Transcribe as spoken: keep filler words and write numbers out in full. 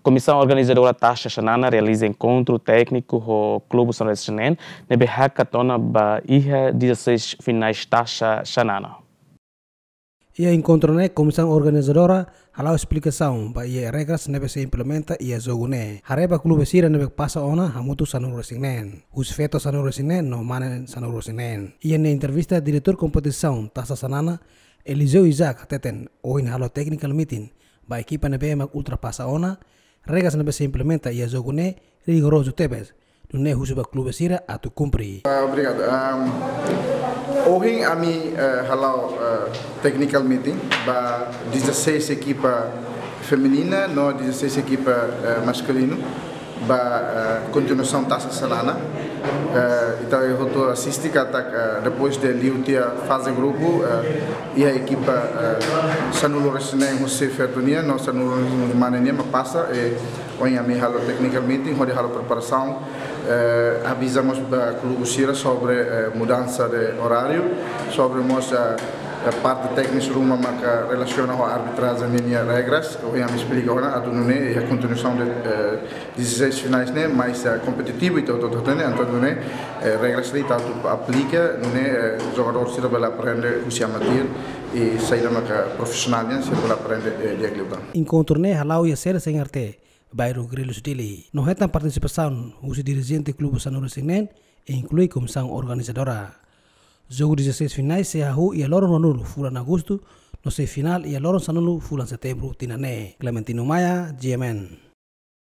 Komisaun Organizadora Taxa Xanana realiza enkontru tékniku ho klube São Luís neen, ne'ebé hakat ona ba iha dezasseis finais Taxa Xanana. Iha enkontru ne'e, Komisaun Organizadora hala'o esplikasaun ba iha regras ne'ebé sei implementa iha jogu ne'e. Haree ba klube sira ne'ebé pasa ona hamutuk sanulu-resin-neen. Husi feto sanulu-resin-neen no mane sanulu-resin-neen. Iha nia entrevista, Diretór Kompetisaun Taxa Xanana, Eliseu Isaac, hateten ohin halo technical meeting ba ekipa ne'ebé mak ultrapasa ona, regras ne'ebé sei implementa iha jogu ne'e rigorozu tebes, nune'e husu ba klube sira atu kumpre. Ah, obrigadu. Ahm, ohin ami, eh, hala'o, eh, technical meeting ba dezasseis ekipa feminina no dezasseis ekipa, eh, maskulinu ba, eh, kontinuasaun Taxa Xanana. Eh, ita hotu asiste katak, eh, depois de liu tiha faze grupu, eh, iha ekipa, eh, sanulu-resin-neen husi feto nian no sanulu-resin-neen mane nian mak pasa, eh, ohin ami halo technical meeting hodi halo preparasaun, eh, aviza mós ba klube sira sobre, eh, mudansa de oráriu, sobre mós, eh, eh, parte téknika ruma maka relasiona ho arbitrajen ninia regras, ohin ami esplika ona atu nune'e iha kontinuasaun de, eh, dezasseis finais ne'e mais, eh, kompetitivu, entaun, entaun, entaun, entaun, ne'e, eh, regras ne'e ita atu aplika, nune'e, eh, jogadór sira bele aprende husi amateur, i saida maka profisionál nian sira bele aprende, eh, di'ak liután. Enkontru ne'e hala'o iha sede CNRT, bairru Grelhos, Dili. No hetan partisipasaun husi dirijente klube sanulu-resin-neen, inklui komisaun organizadora. Jogu dezasseis finais sei hahú iha loron ruanulu fulan Agostu, no sei finál iha loron sanulu fulan Setembru tinan ne'e. Clementino Maia, G M N.